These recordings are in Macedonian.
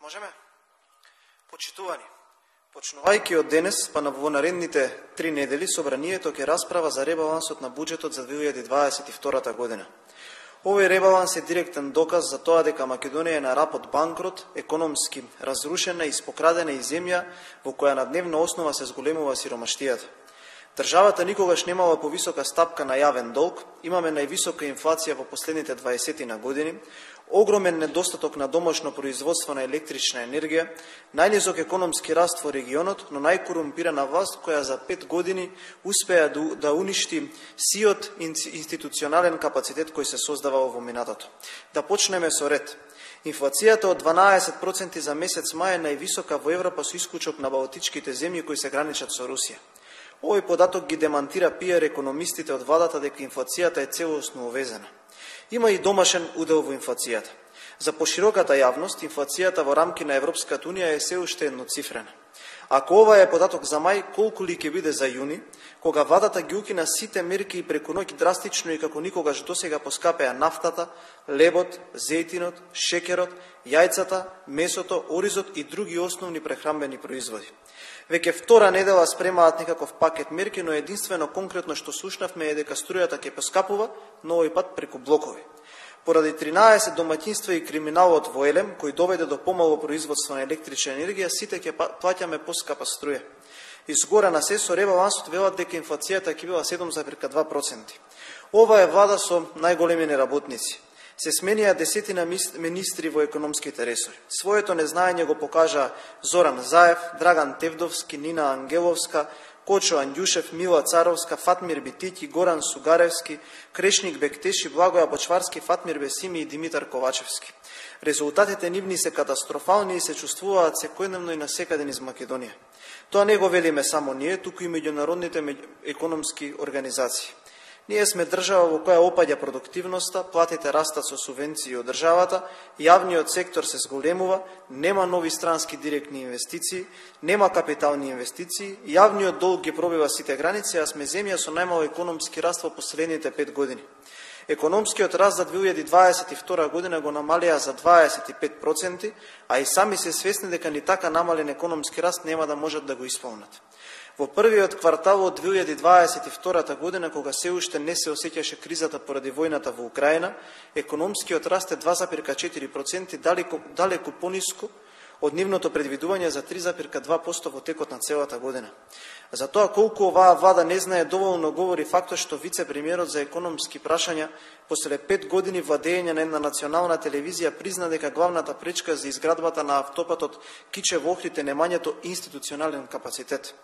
Можеме? Почитувани, почнувајќи од денес, па во наредните 3 недели, собранието ќе расправа за ребалансот на буџетот за 2022 година. Овој ребаланс е директен доказ за тоа дека Македонија е на рап од банкрот, економски разрушена и испокрадена и земја во која на дневна основа се зголемува сиромаштијата. Државата никогаш немала повисока стапка на јавен долг, имаме највисока инфлација во последните 20 години, огромен недостаток на домашно производство на електрична енергија, најнизок економски раст во регионот, но најкорумпирана власт која за 5 години успеа да уништи сиот институционален капацитет кој се создавал во минатото. Да почнеме со ред. Инфлацијата од 12% за месец мај е највисока во Европа со исклучок на балтичките земји кои се граничат со Русија. Овој податок ги демантира пиар економистите од владата дека инфлацијата е целосно увезена. Има и домашен удел во инфлацијата. За пошироката јавност, инфлацијата во рамки на Европската Унија е се уште едноцифрена. Ако ова е податок за мај, колку ли ќе биде за јуни, кога владата ги укина сите мерки и преку ноќ драстично и како никогаш досега поскапеа нафтата, лебот, зејтинот, шекерот, јајцата, месото, оризот и други основни прехранбени производи. Веќе втора недела спремаат некаков пакет мерки, но единствено конкретно што слушнавме е дека струјата ќе поскапува, но овој пат преку блокови. Поради 13 домаќинства и криминалот во Елем, кој доведе до помало производство на електрична енергија, сите ќе плаќаме поскапа струја. Изгора на се со ребалансот велат дека инфлацијата ќе била 7,2%. Ова е влада со најголеми неработници. Се сменија десетина министри во економските ресори. Своето незнаење го покажа Зоран Заев, Драган Тевдовски, Нина Ангеловска, Кочо Андјушев, Мила Царовска, Фатмир Битики, Горан Сугаревски, Крешник Бектеши, Благоја Бочварски, Фатмир Бесими и Димитар Ковачевски. Резултатите нивни се катастрофални и се чувствуваат секојдневно и насекаде низ Македонија. Тоа не го велиме само ние, туку и меѓународните економски организации. Ние сме држава во која опаѓа продуктивноста, платите растат со субвенции од државата, јавниот сектор се зголемува, нема нови странски директни инвестиции, нема капитални инвестиции, јавниот долг ги пробива сите граници, а сме земја со најмал економски раст во последните 5 години. Економскиот раст за 2022 година го намалија за 25%, а и сами се свесни дека ни така намален економски раст нема да можат да го исполнат. Во првиот квартал од 2022 година, кога се уште не се осеќаше кризата поради војната во Украина, економскиот раст е 2,4%, далеку пониско од нивното предвидување за 3,2% во текот на целата година. За тоа колку оваа влада не знае доволно говори фактот што вице-премиерот за економски прашања после 5 години владење на една национална телевизија призна дека главната пречка за изградбата на автопатот Кичево Охрид е немањето институционален капацитет.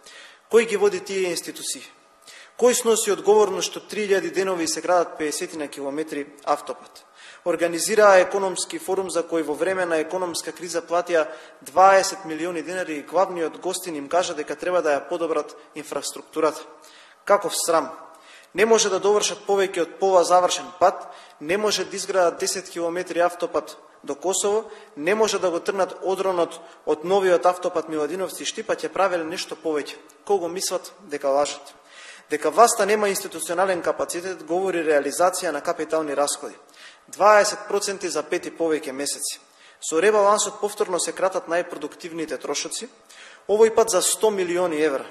Кој ги води тие институции? Кој сноси одговорност што 3000 денови се градат 50 на километри автопат? Организираа економски форум за кој во време на економска криза платија 20 милиони денари и главниот гостин им кажа дека треба да ја подобрат инфраструктурата. Каков срам! Не може да довршат повеќе од пола завршен пат, не може да изградат 10 километри автопат до Косово, не може да го тргнат одронот од новиот автопат Миладиновци-Штипа, ќе правеле нешто повеќе. Кого мислат дека лажат? Дека власта нема институционален капацитет говори реализација на капитални расходи. 20% за 5 и повеќе месеци. Со ребалансот повторно се кратат најпродуктивните трошоци, овој пат за 100 милиони евра.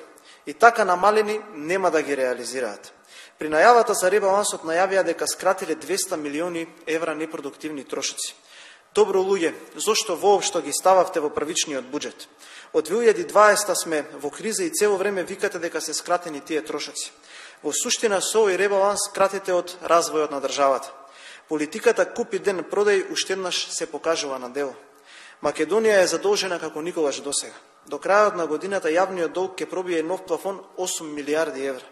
И така намалени нема да ги реализираат. При најавата за ребалансот најавија дека скратиле 200 милиони евра непродуктивни трошоци. Добро луѓе, зошто воопшто ги стававте во првичниот буџет? Од 2020 сме во криза и цело време викате дека се скратени тие трошоци. Во суштина со овој ребаланс кратите од развојот на државата. Политиката купи ден продај уште еднаш се покажува на дело. Македонија е задолжена како никогаш досега. До крајот на годината јавниот долг ќе пробие нов плафон 8 милиарди евра.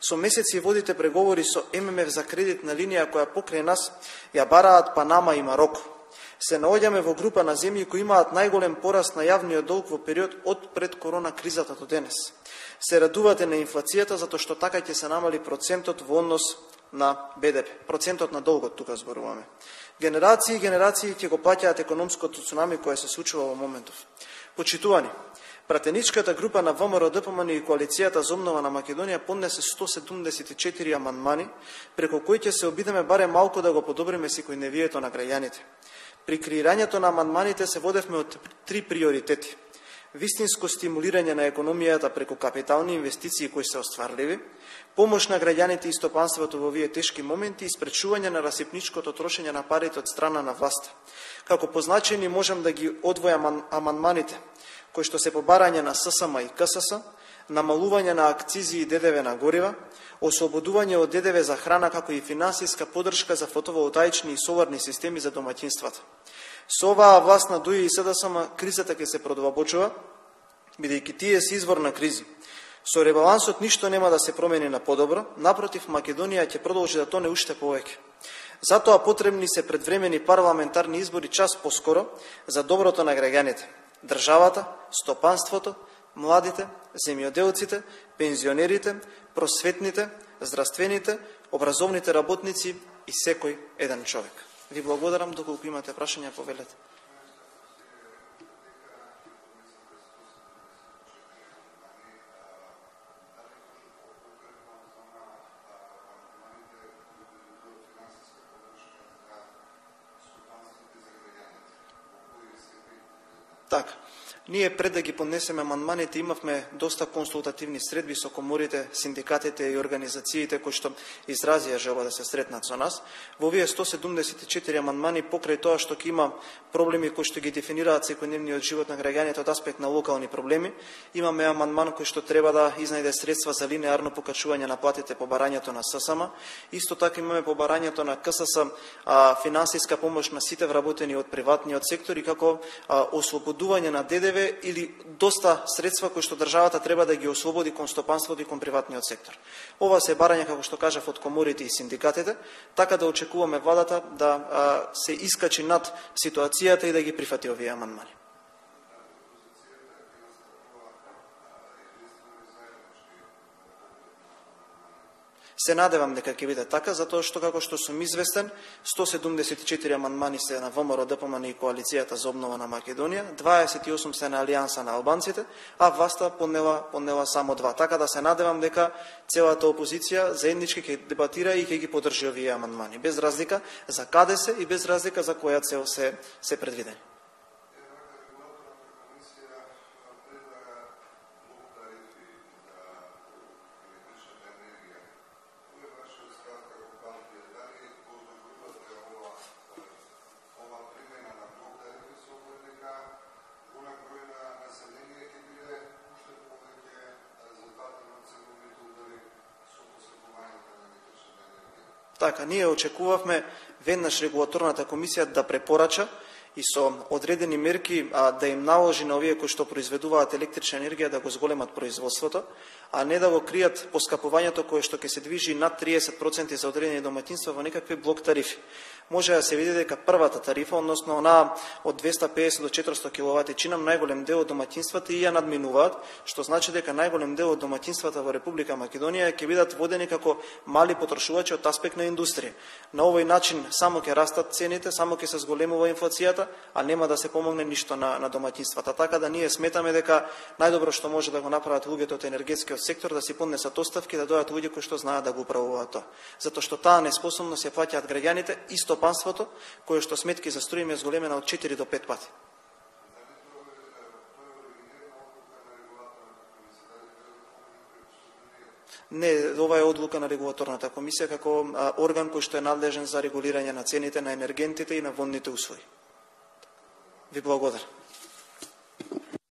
Со месеци водите преговори со ММФ за кредитна линија која покрај нас ја бараат Панама и Мароко. Се наоѓаме во група на земји кои имаат најголем пораст на јавниот долг во период од пред корона кризата до денес. Се радувате на инфлацијата затоа што така ќе се намали процентот во однос на БДП, процентот на долгот тука зборуваме. Генерации и генерации ќе го плаќаат економското цунами кое се случува во моментов. Почитувани, пратеничката група на ВМРО ДПМН и коалицијата за обнова на Македонија поднесе 174 амандмани, преку кои ќе се обидеме барем малку да го подобриме секојдневието на граѓаните. При креирањето на амандманите се водевме од три приоритети: вистинско стимулирање на економијата преку капитални инвестиции кои се остварливи, помош на граѓаните и стопанството во овие тешки моменти и спречување на расипничкото трошење на парите од страна на власта. Како позначени можам да ги одвојам амандманите кои што се побарање на ССМ и КСС, намалување на акцизи и ДДВ на горива, ослободување од ДДВ за храна, како и финансиска поддршка за фотоволтаични и соларни системи за домаќинствата. Со оваа власт на ДУИ и СДСМ кризата ќе се продолбочува, бидејќи тие се извор на кризи. Со ребалансот ништо нема да се промени на подобро, напротив, Македонија ќе продолжи да тоне уште повеќе. Затоа потребни се предвремени парламентарни избори час поскоро за доброто на граѓаните, државата, стопанството, младите, земјоделците, пензионерите, просветните, здравствените, образовните работници и секој еден човек. Ви благодарам, доколку имате прашања, повелете. Така. Ние пред да ги поднесеме амандманите имавме доста консултативни средби со коморите, синдикатите и организациите кои што изразија желба да се сретнат со нас. Во овие 174 амандмани, покрај тоа што ќе има проблеми кои што ги дефинираат секојдневниот живот на граѓаните од аспект на локални проблеми, имаме амандман кој што треба да изнајде средства за линеарно покачување на платите по барањето на ССМ. Исто така имаме по барањето на КСС финансиска помош на сите вработени од приватниот сектор и како ослободување на ДДВ или доста средства кои што државата треба да ги ослободи кон стопанството и кон приватниот сектор. Ова се барања, како што кажав, од коморите и синдикатите, така да очекуваме владата да се искачи над ситуацијата и да ги прифати овие амандмани. Се надевам дека ќе биде така, затоа што, како што сум известен, 174 амандмани се на ВМРО, ДПМН и Коалицијата за обнова на Македонија, 28 се на Алијанса на албанците, а власта поднела само 2. Така да се надевам дека целата опозиција заеднички ќе дебатира и ќе ги поддржи овие амандмани, без разлика за каде се и без разлика за која цел се предвидени. Така, ние очекувавме веднаш регулаторната комисија да препорача и со одредени мерки да им наложи на овие кои што произведуваат електрична енергија да го зголемат производството, а не да го кријат поскапувањето кое што ќе се движи над 30% за одредени домаќинства во некакви блок тарифи. Може да се види дека првата тарифа, односно она од 250 до 400 киловатичина, најголем дел од домаќинствата и ја надминуваат, што значи дека најголем дел од домаќинствата во Република Македонија ќе бидат водени како мали потрошувачи од аспект на индустрија. На овој начин само ќе растат цените, само ќе се зголемува инфлацијата, а нема да се помогне ништо на домаќинствата. Така да ние сметаме дека најдобро што може да го направат луѓето од енергетскиот сектор да си поднесат оставки, да дојдат луѓе кои што знаат да го управуваат тоа. Затоа што таа неспособност ја плаќаат граѓаните и стопанството, кое што сметки за струја е зголемена од 4 до 5 пати. Не, ова е одлука на регулаторната комисија како орган кој што е надлежен за регулирање на цените на енергентите и на водните услови. Ви благодарам.